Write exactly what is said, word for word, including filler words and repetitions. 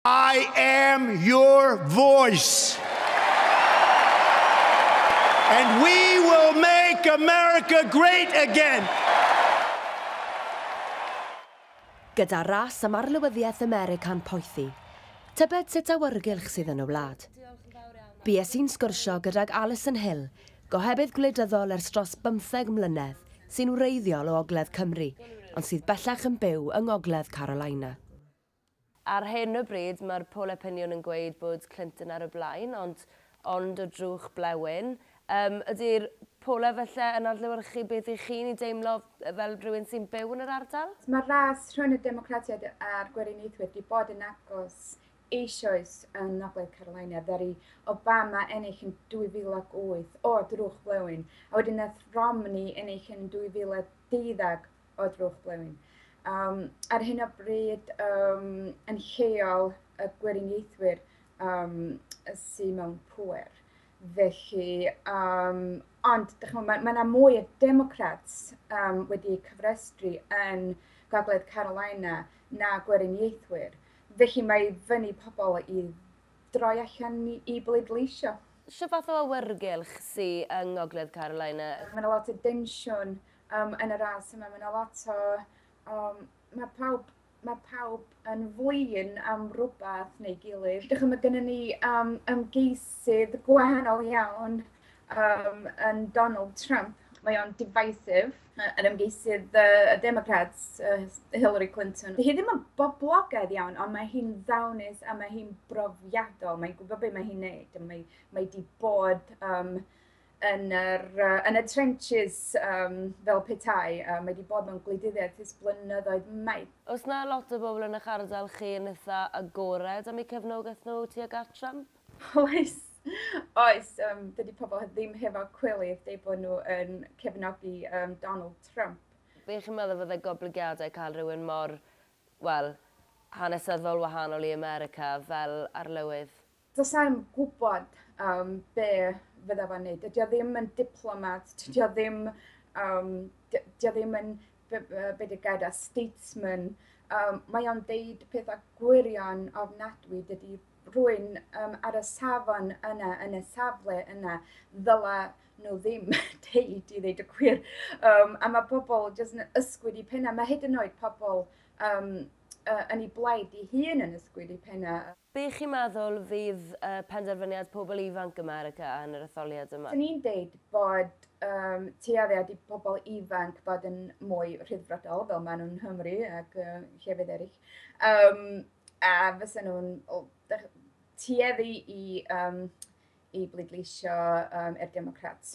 I am your voice. And we will make America great again. Gyda ras am arlywyddiaeth America'n poethi, tybed sut awyrgylch sydd yn y wlad. Bues i'n sgwrsio gydag Alison Hill, gohebydd gwleidyddol ers dros bymtheg mlynedd, sy'n wreiddiol o Ogledd Cymru, ond sydd bellach yn byw yng Ngogledd Carolina. Ar hyn o bryd, mae'r poll opinion yn gweud bod Clinton ar y blaen, ond, ond o drwch blewyn. Um, ydy'r polau felly yn adlewyrchu beth i chi'n ei deimlo fel rhywun sy'n byw yn yr ardal? Mae'r ras rhwng y Democratiaid a'r Gweriniaethwyr wedi bod yn agos eisoes yn Ngogledd Carolina. Ddaru Obama ennill yn dwy fil ac wyth o drwch blewyn, a wedyn nath Romney ennill yn dwy fil a deuddeg o drwch blewyn. Um, ar hyn o bryd, um, yn lleol y Gweriniaethwyr um, sydd mewn pŵer. Felly, um, ond mae yna mwy o Democrats um, wedi cyfrestru yn Gogledd Carolina na Gweriniaethwyr. Felly mae fyny pobl i droi allan i, i bleidleisio. Sut fath o awyrgylch sydd yng Ngogledd Carolina? Mae yna lot o densiwn um, yn y ras yma. Mae yna lot o... Um, mae pawb, mae pawb yn flin am rhywbeth neu gilydd. Dych chi'n, mae gennym ni um, ymgeisydd gwahanol iawn um, yn Donald Trump. Mae o'n divisive, yn ymgeisydd uh, y Democrats, uh, Hillary Clinton. Hi ddim yn boblogaidd iawn, ond mae hi'n ddawnus a mae hi'n brofiadol. Mae'n gwybod beth mae hi'n neud. Mae, mae di bod um, yn, yr, uh, yn y trenches um, fel petai. Uh, mae wedi bod mewn gwleidyddiaeth ers blynyddoedd maith. Oes na lot o bobl yn eich ardal chi yn eitha agored am eu cefnogaeth nhw tuag at Trump? Oes, oes. Um, dydy pobl ddim hefo cwilydd deud bod nhw yn cefnogi um, Donald Trump. Be chi'n meddwl fydde goblygiadau cael rhywun mor, wel, hanesyddol wahanol i America fel arlywydd? Does na'm gwybod um, be fydda fo'n neud. Dydy o ddim yn diplomat, dydy o ddim, um, dydy o ddim yn, be, be di gair, a statesman. Um, mae o'n deud pethau gwirion ofnadwy. Dydy rhywun um, ar y safon yna, yn y safle yna, ddyla nhw ddim deud i ddeud y gwir. Um, a mae pobl jyst yn ysgwyd i penna. Mae hyd yn oed pobl um, uh, yn ei blaid ei hun yn ysgwyd i penna. Be chi'n meddwl fydd uh, penderfyniad pobl ifanc America yn yr etholiad yma? Dyn ni'n deud bod um, tueddiad i pobl ifanc bod yn mwy rhyddfrydol, fel maen nhw'n Nghymru ac uh, llefydd eraill. Um, a fysa nhw'n tueddu i, um, i bleidleisio um, i'r Democrats.